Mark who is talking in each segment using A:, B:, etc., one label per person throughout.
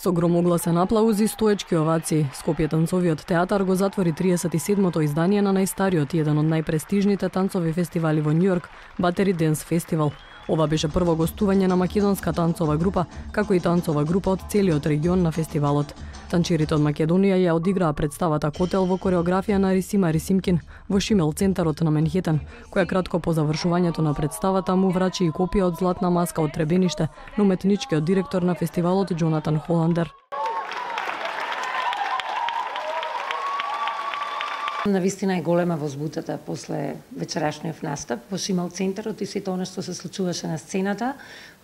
A: Со громогласен аплауз и стоечки овации, Скопје танцовиот театар го затвори 37-то издание на најстариот и еден од најпрестижните танцови фестивали во Њујорк, Battery Dance Festival. Ова беше прво гостување на македонска танцова група, како и танцова група од целиот регион на фестивалот. Танчирите од Македонија ја одиграа представата Котел во кореографија на Рисима Рисимкин во Шимел центарот на Менхетен, која кратко по завршувањето на представата му врачи и копија од златна маска од Требениште на уметничкиот директор на фестивалот Джонатан Холандер.
B: Навистина е голема возбудата после вечерашниот настап во Шимел центарот и сето она што се случуваше на сцената,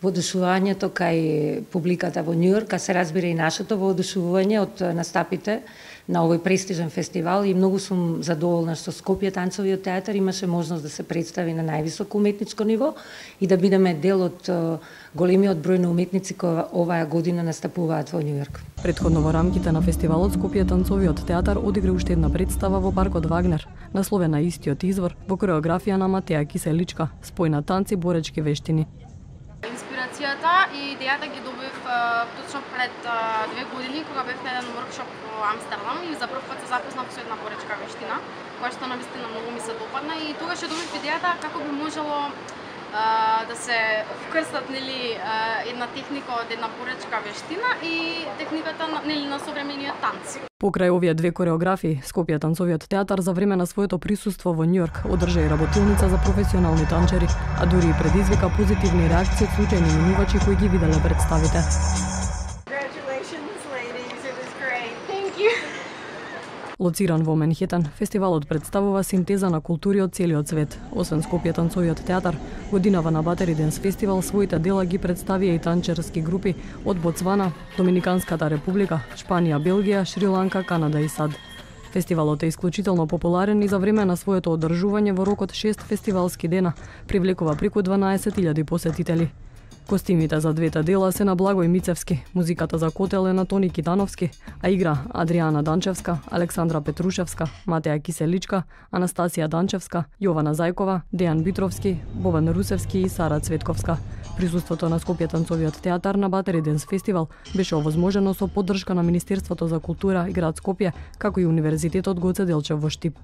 B: воодушувањето кај публиката во Њујорк, а се разбира и нашето воодушување од настапите на овој престижен фестивал и многу сум задоволна што Скопје танцовиот театар имаше можност да се представи на највисоко уметничко ниво и да бидеме дел од големиот број на уметници кои оваа година настапуваат во Њујорк.
A: Претходно во рамките на фестивалот Скопје танцовиот театар одигра уште една представа во паркот Вагнер, насловена истиот извор, во кореографија на Матеја Киселичка, спојна танци боречки вештини.
C: Инспирацијата и идејата ги добив точно пред 2 години кога бев на еден воркшоп во Амстердам и за прв пат се запознав со една боречка вештина, која што навистина многу ми се допадна и тогаш ја добив идејата како би можело да се вкрстат една техника од една боречка вештина и техниката на современиот танц.
A: Покрај овие две кореографии, Скопје танцовиот театар за време на своето присуство во Њујорк одржа и работилница за професионални танчери, а дури и предизвика позитивни реакции од случајни минувачи кои ги виделе представите. Лоциран во Менхетен, фестивалот представува синтеза на култури од целиот свет. Освен Скопје танцовиот театар, годинава на Battery Dance Festival своите дела ги представија и танчерски групи од Ботсвана, Доминиканската република, Шпанија, Белгија, Шри-Ланка, Канада и САД. Фестивалот е исклучително популарен и за време на своето одржување во рок од 6 фестивалски дена привлекува преку 12.000 посетители. Костимите за двете дела се на Благој Мицевски, музиката за Котел е на Тони Китановски, а игра Адријана Данчевска, Александра Петрушевска, Матеја Киселичка, Анастасија Данчевска, Јована Зајкова, Дејан Битровски, Бован Русевски и Сара Цветковска. Присуството на Скопје танцовиот театар на Battery Dance Festival беше овозможено со поддршка на Министерството за култура и град Скопје, како и Универзитетот Гоце Делчев во Штип.